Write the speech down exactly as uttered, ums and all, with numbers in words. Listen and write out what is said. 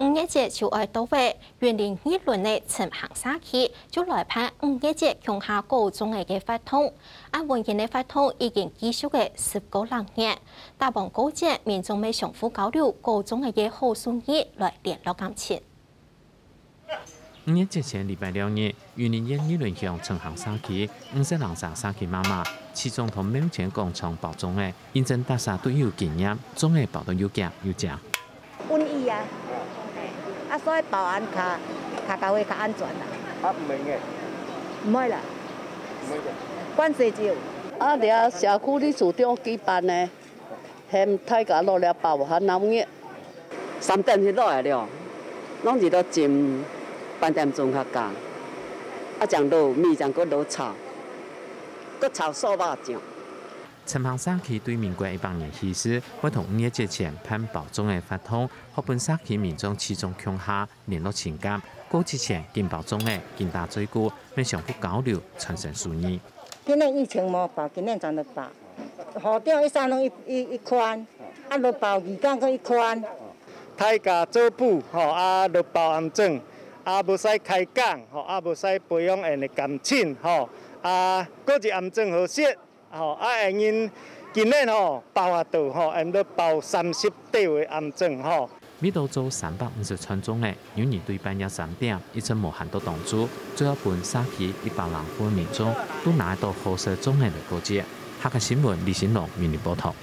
五月節就愛到咧，雲林二崙个陳坑社區就來辦五月節共下過粽仔个活動。恁溫馨个活動已經繼續了十個零月，打幫過節民眾乜相互交流過粽仔个好手藝來聯絡感情。五月節前禮拜六日，雲林縣二崙鄉陳坑社區五十零儕社區媽媽，起早到廟前廣場包粽仔， 因為大家都有經驗，粽仔包到又遽又靚。穩意啊，啊，所以包恁較，較較會較安全啦。啊，毋會硬？毋會啦，毋會硬。慣勢就。啊，這社區裡主張舉辦呢，喊大家落來包較鬧熱。三點就落來了，攏是落浸半點鐘較加，啊，正落米，正過落炒，過炒素肉醬。 陳坑社區對民國一百年起始，會同五月節前辦包粽仔活動，好分社區民眾起早共下，聯絡情感。過節前緊包粽仔，緊打嘴鼓，乜相互交流，傳承手藝。今年疫情無包，今年正來包。校長一儕攏一、一、一款，啊，來包義工閣一款。大家做伙吼，啊，來包餡粽，啊，無使開講吼，啊，無使培養𫣆个感情吼，啊，過節餡粽好食。 吼，啊，𫣆今年吼，包啊到吼，𫣆都包三十桌个餡粽吼。每到做三百五十串粽仔，有人對半夜三點一直無閒到當晝，最後分社區一百零戶民眾都拿得到好食粽仔來過節。客家新聞李新龍為你報導。